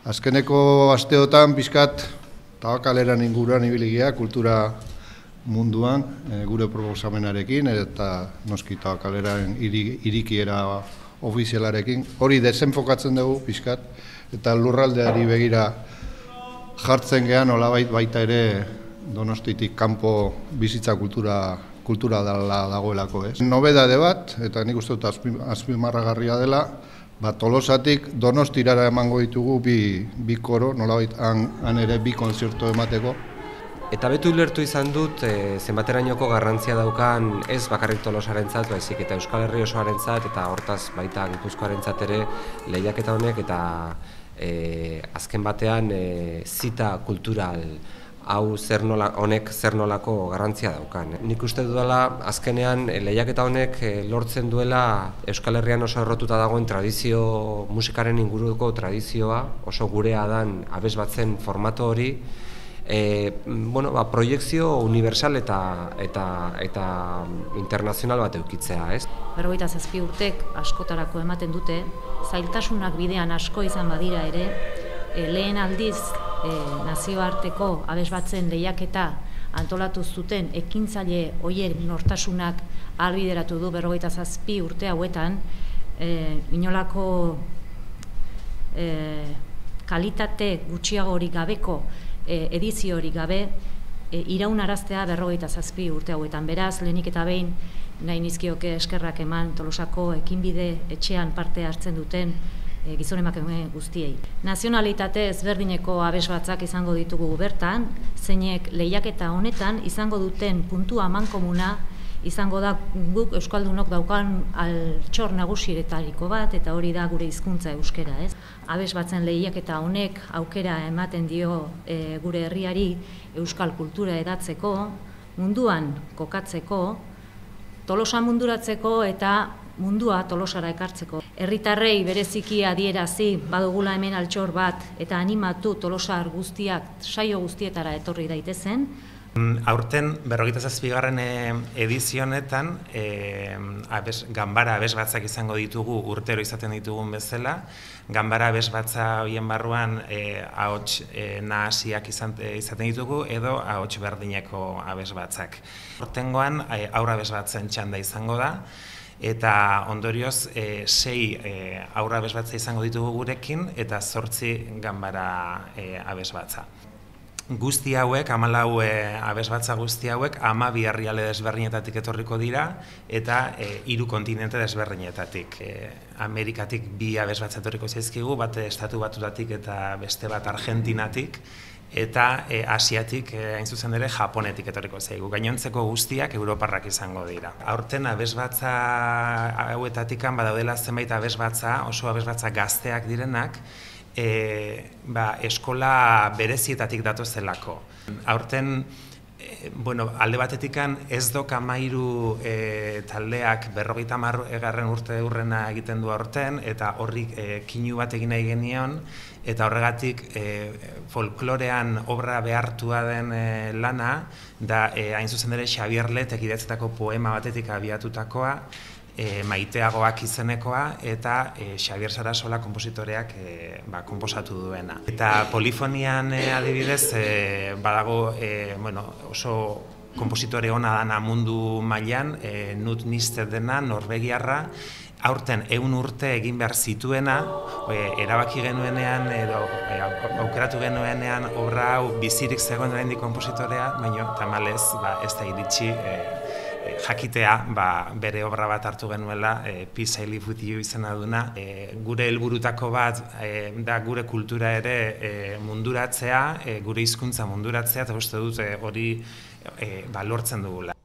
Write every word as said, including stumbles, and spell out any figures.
Azkeneko asteotan pixkat Tabakaleran inguruan ibiligia kultura munduan e, gure proposamenarekin eta noski Tabakaleran irikiera ofizialarekin. Hori desenfokatzen dugu pixkat eta lurraldeari begira jartzen gean nolabait baita ere Donostitik kanpo bizitza kultura kultura dela dagoelako, ez? Nobedade bat, eta nik uste dut azpimarragarria dela, ba, Tolosatik Donostirara emango ditugu bi, bi koro, nolabait han, han ere bi konzertu emateko. Eta betu ulertu izan dut e, zenbaterainoko garrantzia daukan ez bakarrik Tolosarentzat, baizik eta Euskal Herri osoarentzat eta hortaz baita Gipuzkoarentzat ere lehiaketa honek eta e, azken batean e, zita kultural hau zer nola, honek zer nolako garrantzia daukan. Nik uste dudala azkenean lehiaketa honek lortzen duela Euskal Herrian oso errotuta dagoen tradizio, musikaren inguruko tradizioa, oso gurea dan abesbatzen formato hori, e, bueno, ba, proiekzio universal eta, eta, eta internazional bat eukitzea, ez? Berrogeita zazpi urtek askotarako ematen dute, zailtasunak bidean asko izan badira ere, e, lehen aldiz E, nazioarteko abesbatzen lehiaketa antolatu zuten ekintzaile horiek nortasunak ahalbideratu du berrogeita zazpi urte hauetan e, inolako e, kalitate gutxiagorik gabeko e, ediziorik gabe e, iraunaraztea berrogeita zazpi urte hauetan. Beraz, lehenik eta behin nahi nizkioke eskerrak eman Tolosako ekinbide etxean parte hartzen duten E, gizon emakume guztiei. Nazionalitate ezberdineko abesbatzak izango ditugu bertan, zeinek lehiaketa honetan izango duten puntua amankomuna izango da guk euskaldunok daukan altxor nagusietariko bat, eta hori da gure hizkuntza euskera, ez? Abesbatzen lehiaketa honek aukera ematen dio e, gure herriari euskal kultura edatzeko, munduan kokatzeko, Tolosa munduratzeko eta mundua Tolosara ekartzeko. Herritarrei bereziki adierazi badugula hemen altxor bat eta animatu Tolosar guztiak saio guztietara etorri daitezen. Aurten berrogeita zazpigarren edizio honetan e, abes, ganbara abesbatzak izango ditugu urtero izaten ditugun bezala. Ganbara abesbatza horien barruan e, ahots e, nahasiak izan, e, izaten ditugu edo ahots berdineko abesbatzak. Aurtengoan e, aurra abesbatzen txanda izango da. Eta ondorioz e, sei e, aurra abesbatza izango ditugu gurekin eta zortzi ganbara e, abesbatza. Guzti hauek, hamalau e, abesbatza guzti hauek, hamabi herrialde desberdinetatik etorriko dira eta e, hiru kontinente desberdinetatik. E, Amerikatik bi abesbatza etorriko zaizkigu, bat Estatu Batutatik eta beste bat Argentinatik, eta e, Asiatik, e, hain zuzen ere, Japonetik etorriko zaigu. Gainontzeko guztiak europarrak izango dira. Aurten abesbatza hauetatikan badaudela zenbait abesbatza, oso abesbatza gazteak direnak, e, ba, eskola berezietatik datozelako. Aurten e, bueno, alde batetikan ez dok amairu e, taldeak berrogeita hamar egarren urte urrena egiten du aurten, eta horri e, kinu bat egin nahi genion, eta horregatik e, folklorean obra behartua den e, lana, da e, hain zuzen ere Xabier Letek idatzetako poema batetik abiatutakoa, e, maiteagoak izenekoa, eta e, Xabier Sarasola konpositoreak e, ba, konposatu duena. Eta polifonian e, adibidez, e, badago e, bueno, oso konpositore ona dana mundu mailan, e, Knut Nister dena, norvegiarra, aurten ehun urte egin behar zituena, e, erabaki genuenean edo e, aukeratu genuenean obra hau bizirik zegoen oraindik konpositorea, baina tamalez ba, ez da iritsi e, e, jakitea ba, bere obra bat hartu genuela, e, Peace I Live With You izena duna. E, gure helburutako bat e, da gure kultura ere e, munduratzea, e, gure hizkuntza munduratzea, eta uste dut e, hori e, ba, lortzen dugula.